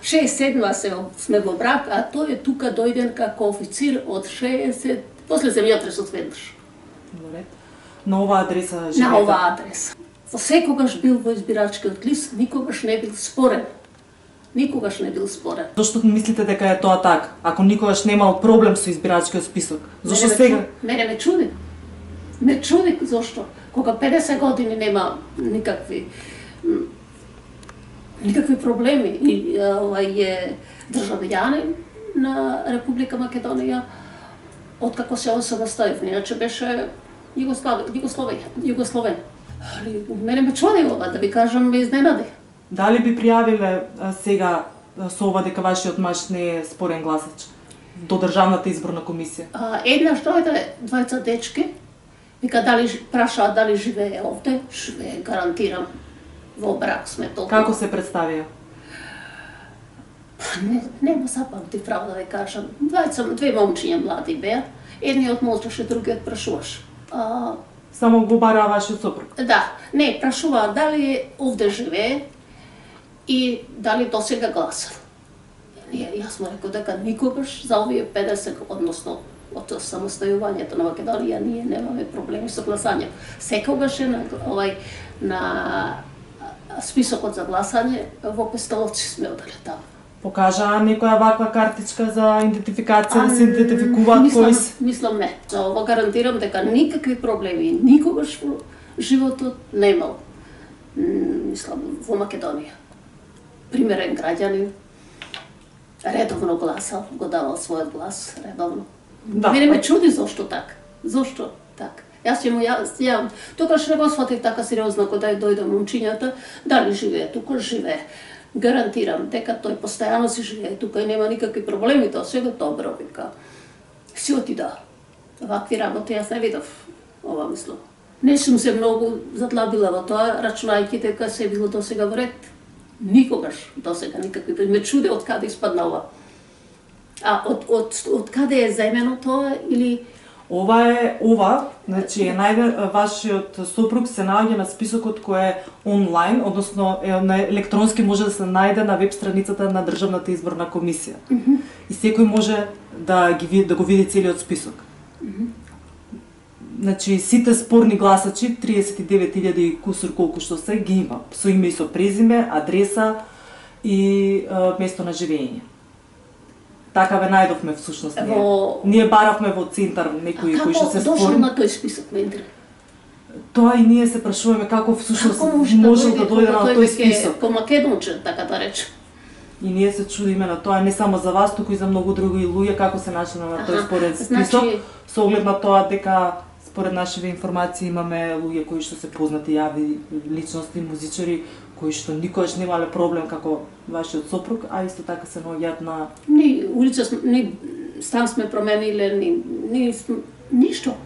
67 сме во брак, а тој е тука дојден како официр од 60, после земјотрес од веднаш. На оваа адреса живеете? На оваа адреса. Секогаш бил во избирачкиот лист, никогаш не бил спорен. Никогаш не бил спорен. Зошто мислите дека е тоа така? Ако никогаш немал проблем со избирачкиот список, зошто сега? Мене ме чуди. Ме чуди зошто. Кога 50 години нема никакви проблеми и овај е државјанин на Република Македонија откако се осамостоив, иначе беше Југословен. Мене ме чуди ова, да ви кажам, ме изненади. Дали би пријавиле сега со ова дека вашиот маж не е спорен гласач до Државната изборна комисија? Еднаш дојде двајца дечки, вика прашаа дали живее овде, живее, гарантирам. Во брак сме толку. Како се представија? Нема запамти право да ви кажам. Две момчиња млади беа. Едниот молчеше, другиот прашуваше. Само го бараа вашиот сопруг? Да, не, прашуваа дали овде живее и дали досега гласав. Јас му реков дека никогаш за овие 50, односно од самостојувањето на Македонија, ние немаме проблеми со гласање. Секогаш е на списокот за гласање во Пестоловци сме оделе таму. Покажаа некоја ваква картичка за идентификација, да се идентификуваат кои се? Мислам не. За ова гарантирам дека никакви проблеми никогаш во животот немал. Мислам во Македонија. Примерен граѓанин, редовно гласал, го давал својот глас редовно. Да. Мене ме чуди зошто така. Зошто така? Јас ќе му јавам. Тогаш не го сватив така сериозно кога дојде момчињата, дали живее тука, живее. Гарантирам дека тој постојано си живее тука и нема никакви проблеми, тоа сега добро, вика. Си отида. Вакви работи јас не видов, ова мислам. Не сум се многу задлабила во тоа, рачунајќи дека се било досега во ред. Никогаш досега никакви. Ме чуде од каде испадна ова. А од каде е заемено тоа или Ова, значи е вашиот сопруг се наоѓа на списокот кој е онлайн, односно на електронски може да се најде на веб страницата на Државната изборна комисија. И секој може да го види целиот список. Значи сите спорни гласачи, 39.000 и кусур колку што се, ги има со име и со презиме, адреса и место на живење. Така ве најдовме всушност ние. Ние баравме во центар некои кои што се спорни. Како дошол на тој список, ме интересира? Тоа и ние се прашуваме како всушност можел да дојде на тој список. По македонче, така да речем. И ние се чудиме на тоа, не само за вас, туку и за многу други луѓе како се нашле на тој спорен список, со оглед на тоа дека според нашите информации имаме луѓе кои што се познати јави личности, музичари, кои што никогаш немале проблем како вашиот сопруг, а исто така се наоѓаат на... Ни улица, ни стан сме промениле, ни ништо.